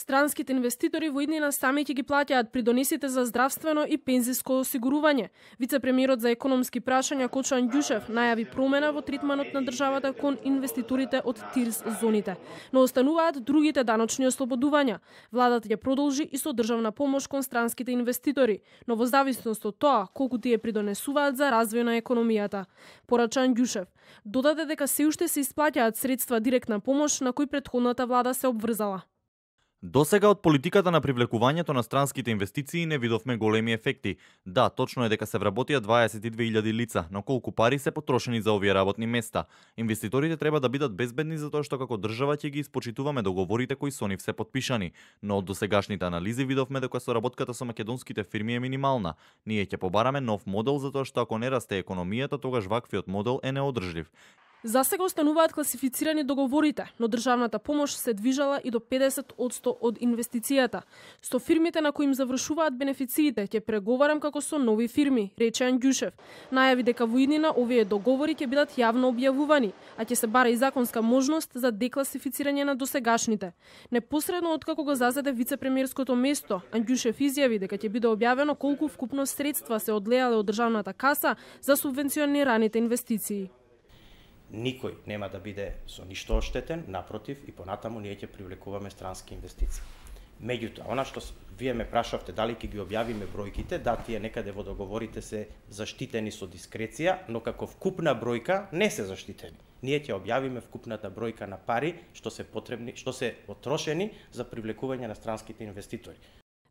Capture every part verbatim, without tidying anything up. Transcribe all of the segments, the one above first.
Странските инвеститори во иднина сами ќе ги плаќаат придонесите за здравствено и пензиско осигурување. Вице-премиерот за економски прашања Кочан Ѓушев најави промена во третманот на државата кон инвеститорите од ТИРС зоните, но остануваат другите даночни ослободувања. Владата ќе продолжи и со државна помош кон странските инвеститори, но во зависност од тоа колку тие придонесуваат за развој на економијата. Порачан Ѓушев додаде дека се уште се исплаќаат средства директна помош на кои претходната влада се обврзала. Досега од политиката на привлекувањето на странските инвестиции не видовме големи ефекти. Да, точно е дека се вработија дваесет и две илјади лица, но колку пари се потрошени за овие работни места? Инвеститорите треба да бидат безбедни затоа што како држава ќе ги испочитуваме договорите кои со нив се потпишани, но од досегашните анализи видовме дека соработката со македонските фирми е минимална. Ние ќе побараме нов модел затоа што ако не расте економијата, тогаш ваквиот модел е неодржлив. За сега остануваат класифицирани договорите, но државната помош се движала и до педесет одсто од инвестицијата. Со фирмите на кои им завршуваат бенефициите ќе преговарам како со нови фирми, рече Ѓушев. Најави дека во иднина овие договори ќе бидат јавно објавувани, а ќе се бара и законска можност за декласифицирање на досегашните. Непосредно откако го зазеде вице-премиерското место, Ѓушев изјави дека ќе биде објавено колку вкупно средства се одлеале од државната каса за субвенционираните инвестиции. Никој нема да биде со ништо оштетен, напротив, и понатаму ние ќе привлекуваме странски инвестиции. Меѓутоа, она што вие ме прашавте дали ќе ги објавиме бројките, да, тие некаде во договорите се заштитени со дискреција, но како вкупна бројка не се заштитени. Ние ќе објавиме вкупната бројка на пари што се потребни, што се потрошени за привлекување на странските инвеститори.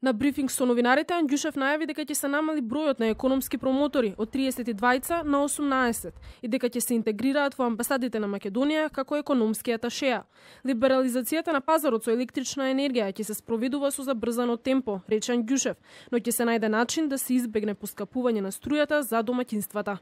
На брифинг со новинарите, Ѓушев најави дека ќе се намали бројот на економски промотори од триесет и двајца на осумнаесет и дека ќе се интегрираат во амбасадите на Македонија како економски аташеа. Либерализацијата на пазарот со електрична енергија ќе се спроведува со забрзано темпо, рече Ѓушев, но ќе се најде начин да се избегне поскапување на струјата за домаќинствата.